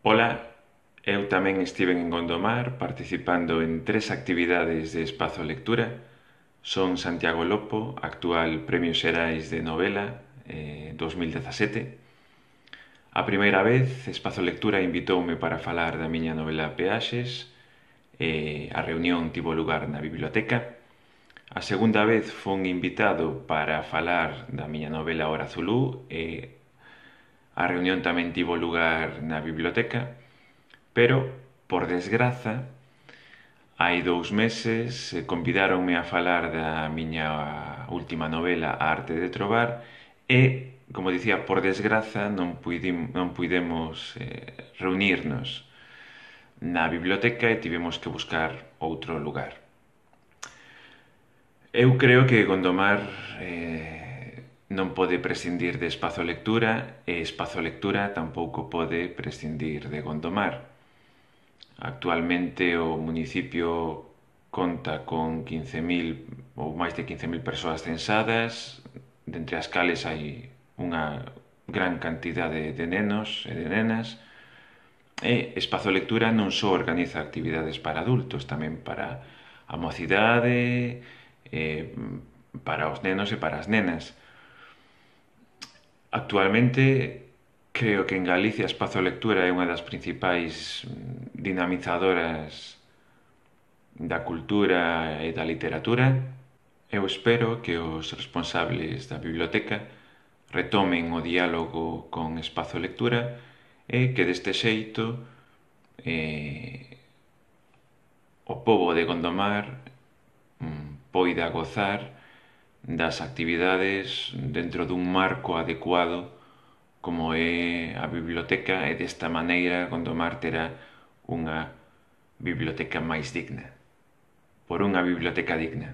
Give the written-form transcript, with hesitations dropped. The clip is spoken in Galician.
Ola, eu tamén estiven en Gondomar participando en 3 actividades de Espazo Lectura. Son Santiago Lopo, actual Premio Xerais de Novela 2017. A primeira vez, Espazo Lectura invitoume para falar da miña novela Peaxes. A reunión tivo lugar na biblioteca. A segunda vez fun invitado para falar da miña novela Hora Zulú e a reunión tamén tivo lugar na biblioteca. Pero, por desgraza, hai 2 meses convidáronme a falar da miña última novela A arte de trobar e, como dicía, por desgraza non puidemos reunirnos na biblioteca e tivemos que buscar outro lugar. Eu creo que Gondomar non pode prescindir de Espazo Lectura e Espazo Lectura tampouco pode prescindir de Gondomar. Actualmente o municipio conta con 15.000 ou máis de 15.000 persoas censadas, dentre as cales hai unha gran cantidade de nenos e de nenas, e Espazo Lectura non só organiza actividades para adultos, tamén para a mocidade, para os nenos e para as nenas. Actualmente, creo que en Galicia Espazo Lectura é unha das principais dinamizadoras da cultura e da literatura. Eu espero que os responsables da biblioteca retomen o diálogo con Espazo Lectura e que deste xeito o pobo de Gondomar poida gozar das actividades dentro dun marco adecuado como é a biblioteca, e desta maneira Gondomar terá unha biblioteca máis digna. Por unha biblioteca digna.